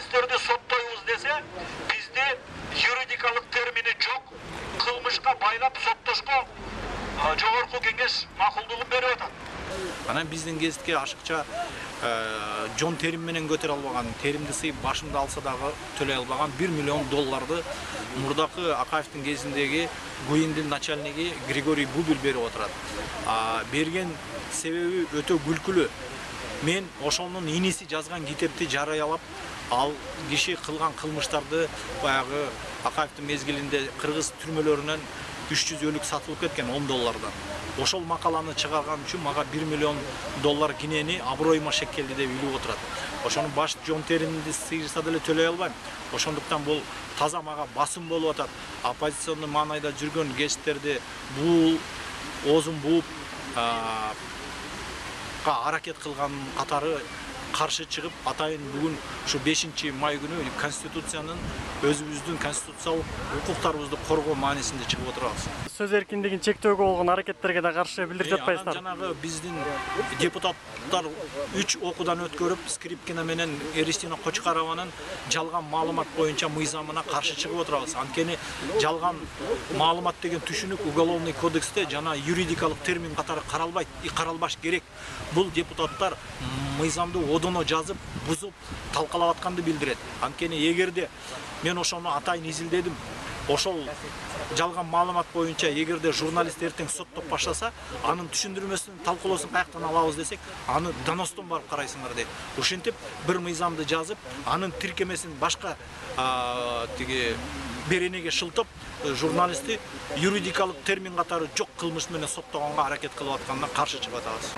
журналисттерди соттойбуз десе, бизде юридикалык термини жок. Кылмышка байлап соттошко жогорку кеңеш макулдугун берип атат. Анан биздин гезитке ашыкча жон терим менен көтөрө албаган, теримди сыйып башымды алса дагы төлөй албаган $1 миллион мурдакы Акаевдин кезиндеги ГУИндин начальниги Григорий Бубил берип отурат. Берген себеби өтө күлкүлүү. Мен ошонун иниси жазган китепти жарыялап, ал киши кылган кылмыштарды баягы Акаевдин мезгилинде кыргыз түрмөлөрүнөн 300 өлүк сатылып кеткен $10. Ошол макаланы чыгарган үчүн мага $1 миллион кинени аброюма шекелди деп билип отурат. Ошону баш жон теримди сыйырса деле төлөй албайм. Ошондуктан бул таза мага басым болуп атат. Оппозиционный маанайда жүргөн гезиттерди бул оозун бууп аракет кылган катары каршы чыгып, атайын бүгүн ушу 5-май күнү Конституциянын өзүбүздүн конституциялык укуктарыбызды коргоо маанисинде чыгып отурабыз. Сөз эркиндигин чектөөгө болгон аракеттерге да каршы билдирип жатпайсыздар. Жанагы биздин депутаттар 3 окуудан өткөрүп, Скрипкина менен Эристина Кочкарованын жалган маалымат боюнча мыйзамына каршы чыгып отурабыз. Анткени жалган маалымат деген түшүнүк уголовный кодексте жана юридикалык термин катары каралбайт, каралбаш керек. Бул депутаттар мыйзамды одоно жазып, бузуп, талкалап атканды билдирет. Анткени эгерде мен ошону атайын изилдедим, ошол жалган маалымат боюнча эгерде журналист эртең соттоп баштаса, анын түшүндүрмөсүн, талкуулоосун каяктан алабыз десек, аны доностон барып карайсыңар дейт. Ошентип бир мыйзамды жазып, анын тиркемесин башка беренеге шылтып, журналистти юридикалык термин катары жок кылмыш менен соттогонго аракет кылып атканына каршы чыгып атабыз.